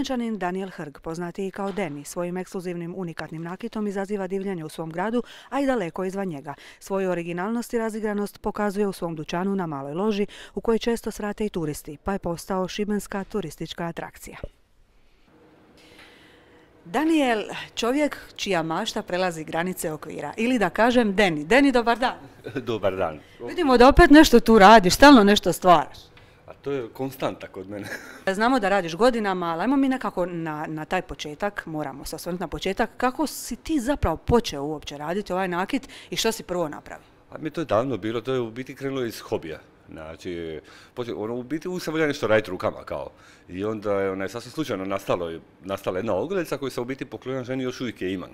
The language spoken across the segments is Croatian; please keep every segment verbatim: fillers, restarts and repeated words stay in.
Šibenčanin Daniel Hrg, poznatiji kao Deni, svojim ekskluzivnim unikatnim nakitom izaziva divljenje u svom gradu, a i daleko izvan njega. Svoju originalnost i razigranost pokazuje u svom dućanu na Maloj loži, u kojoj često svrate i turisti, pa je postao šibenska turistička atrakcija. Daniel, čovjek čija mašta prelazi granice okvira. Ili da kažem Deni. Deni, dobar dan. Dobar dan. Vidimo da opet nešto tu radiš, stalno nešto stvaraš. A to je konstanta kod mene. Znamo da radiš godinama, ali ajmo mi nekako na, na taj početak, moramo se osvrnuti na početak. Kako si ti zapravo počeo uopće raditi ovaj nakit i što si prvo napravio? A mi to je davno bilo, to je u biti krenulo iz hobija. Znači, ono, u biti uvijek sam volio nešto raditi rukama kao. I onda je ona, sasvim slučajno nastalo, nastala jedna ogrlica koju sam u biti poklonio ženi, još uvijek je imam.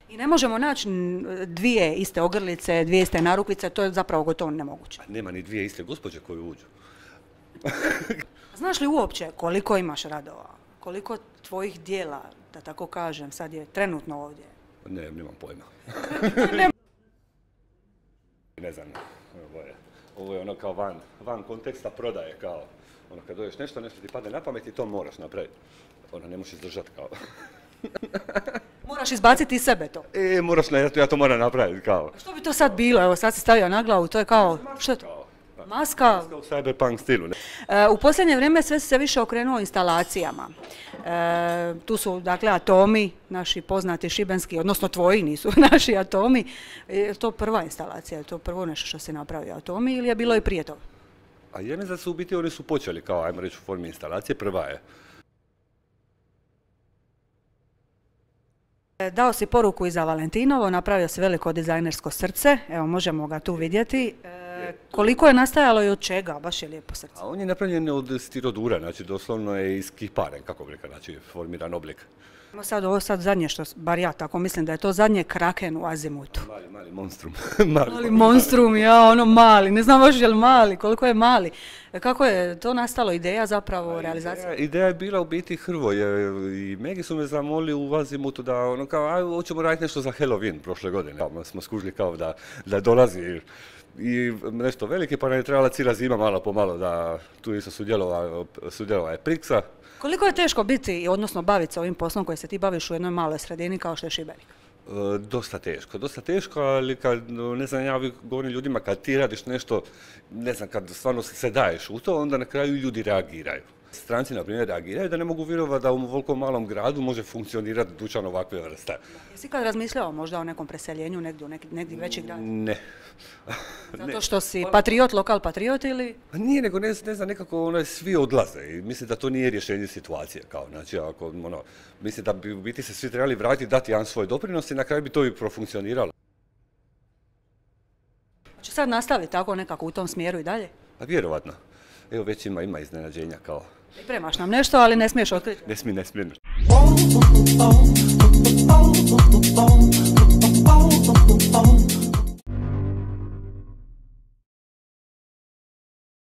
I ne možemo naći dvije iste ogrlice, dvije iste narukvice, to je zapravo gotovo nemoguće. A nema ni dvije iste gospođe koje uđu. Znaš li uopće koliko imaš radova? Koliko tvojih dijela, da tako kažem, sad je trenutno ovdje? Ne, nemam pojma. Ne znam, ovo je, ovo je ono kao van, van konteksta prodaje, kao ono kad dođeš nešto, nešto ti padne na pamet i to moraš napraviti. Ono, ne možeš izdržati kao. Moraš izbaciti iz sebe to. E, moraš, ne, ja to moram napraviti kao. Što bi to sad bilo? Evo, sad si stavio na glavu, to je kao, što je to? Maska? Maska u cyberpunk stilu. Ne? E, u posljednje vrijeme sve se više okrenuo instalacijama. E, tu su, dakle, atomi, naši poznati šibenski, odnosno tvoji nisu naši atomi. Je to prva instalacija, je to prvo nešto što se napravi atomi ili je bilo i prije toga? A ja mislim da su u biti oni su počeli kao, ajmo reći, u formi instalacije, prva je. Dao si poruku i za Valentinovo, napravio si veliko dizajnersko srce, evo možemo ga tu vidjeti. E, koliko je nastajalo i od čega, baš je lijepo srce. A on je napravljen od stirodura, znači doslovno je iz kipare, kako bi rekao, znači formiran oblik. Sad ovo sad zadnje što, bar ja tako mislim da je to zadnje kraken u azimutu. Mali, mali monstrum. mali, mali monstrum, ja, ono mali, ne znam baš je li mali, koliko je mali. Kako je to nastalo, ideja zapravo, realizacija? Ideja, ideja je bila u biti Hrvoje i Megi su me zamolili u azimutu da ono kao, aj, hoćemo raditi nešto za Halloween prošle godine. Kao, smo skužili kao da, da dolazi i nešto velike, pa nam je trebala cijela zima malo po malo da tu isto sudjelova, sudjelova je Priksa. Koliko je teško biti, odnosno baviti se ovim poslom koji se ti baviš u jednoj maloj sredini kao što je Šibenik? E, dosta teško, dosta teško, ali kad, ne znam, ja govorim ljudima, kad ti radiš nešto, ne znam, kad stvarno se daješ u to, onda na kraju ljudi reagiraju. Stranci, na primjer, reagiraju da ne mogu vjerovati da u ovoliko malom gradu može funkcionirati dućan ovakve vrste. Jesi kad razmišljao možda o nekom preseljenju negdje u neki, negdje veći grad? Ne. Zato što si patriot, lokal patriot ili? Nije, nego ne, ne znam, nekako ono, svi odlaze i mislim da to nije rješenje situacije. Kao, znači, ako, ono, mislim da bi u biti se svi trebali vratiti, dati jedan svoj doprinos i na kraju bi to i profunkcioniralo. Hoće sad nastaviti tako nekako u tom smjeru i dalje? A vjerovatno. Evo već ima, ima iznenađenja kao. Pripremaš nam nešto, ali ne smiješ otkriti. Ne smije, ne smije.